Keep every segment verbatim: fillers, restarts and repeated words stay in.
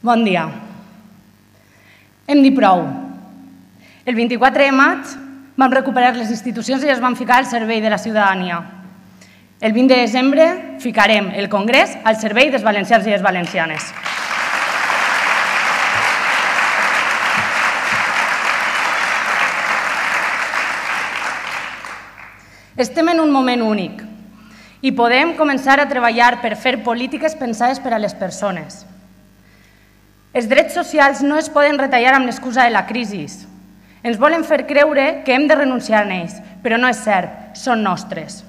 Bon dia. Hem dit prou. El vint-i-quatre de maig vam recuperar les institucions i les vam ficar al servei de la ciutadania. El vint de desembre ficarem el Congrés al servei dels valencians i les valencianes. Estem en un moment únic i podem començar a treballar per fer polítiques pensades per a les persones. Els drets socials no es poden retallar amb l'excusa de la crisi. Ens volen fer creure que hem de renunciar a ells, però no és cert, són nostres.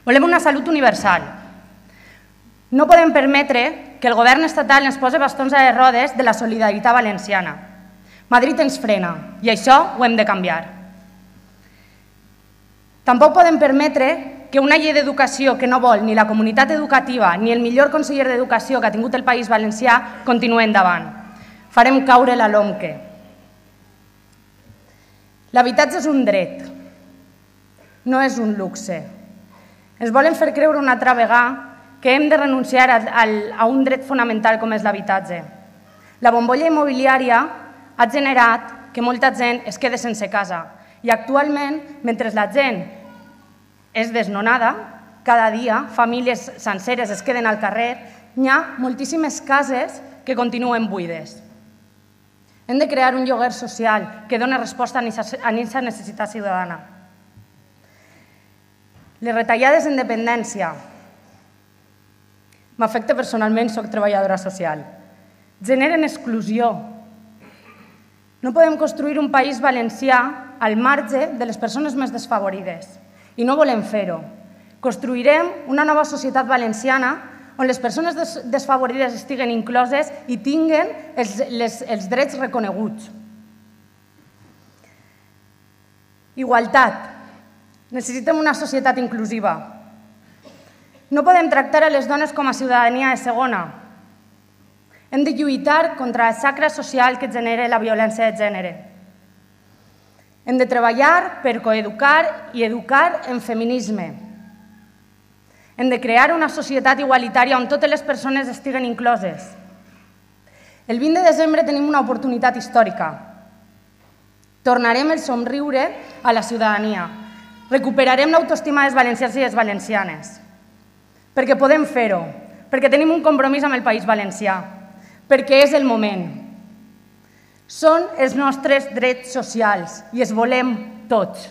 Volem una salut universal. No podem permetre que el govern estatal ens posi bastons a les rodes de la solidaritat valenciana. Madrid ens frena i això ho hem de canviar. Tampoc podem permetre que una llei d'educació que no vol ni la comunitat educativa ni el millor conseller d'Educació que ha tingut el País Valencià continuï endavant. Farem caure la LOMQE. L'habitatge és un dret, no és un luxe. Ens volen fer creure una altra vegada que hem de renunciar a un dret fonamental com és l'habitatge. La bombolla immobiliària ha generat que molta gent es quedi sense casa i actualment, mentre la gent és desnonada, cada dia famílies senceres es queden al carrer, hi ha moltíssimes cases que continuen buides. Hem de crear un lloguer social que doni resposta a aquesta necessitat ciutadana. Les retallades en dependència. M'afecta personalment, soc treballadora social. Generen exclusió. No podem construir un país valencià al marge de les persones més desfavorides. I no volem fer-ho. Construirem una nova societat valenciana on les persones desfavorides estiguen incloses i tinguen els drets reconeguts. Igualtat. Necessitem una societat inclusiva. No podem tractar a les dones com a ciutadania de segona. Hem de lluitar contra la xacra social que genera la violència de gènere. Hem de treballar per coeducar i educar en feminisme. Hem de crear una societat igualitària on totes les persones estiguen incloses. El vint de desembre tenim una oportunitat històrica. Tornarem el somriure a la ciutadania. Recuperarem l'autoestima dels valencians i les valencianes. Perquè podem fer-ho, perquè tenim un compromís amb el País Valencià, perquè és el moment. Són els nostres drets socials i els volem tots.